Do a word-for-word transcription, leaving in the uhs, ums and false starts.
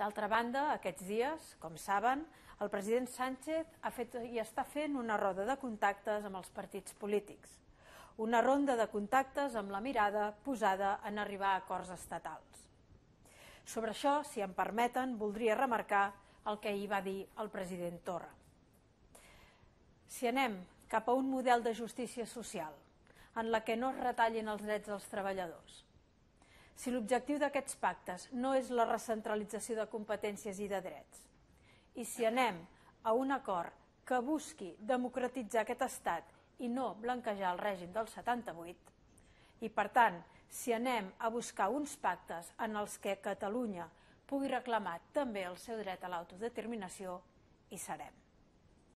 D'altra banda, aquests dies, com saben, el president Sánchez ha fet i està fent una roda de contactes amb els partits polítics. Una ronda de contactes amb la mirada posada en arribar a acords estatals. Sobre això, si em permeten, voldria remarcar el que ahir va dir el president Torra. Si anem cap a un model de justícia social en la que no es retallin els drets dels treballadors, si l'objectiu d'aquests pactes no és la recentralització de competències i de drets, i si anem a un acord que busqui democratitzar aquest estat i no blanquejar el règim del setanta-vuit, i per tant, si anem a buscar uns pactes en els que Catalunya pugui reclamar també el seu dret a l'autodeterminació, hi serem.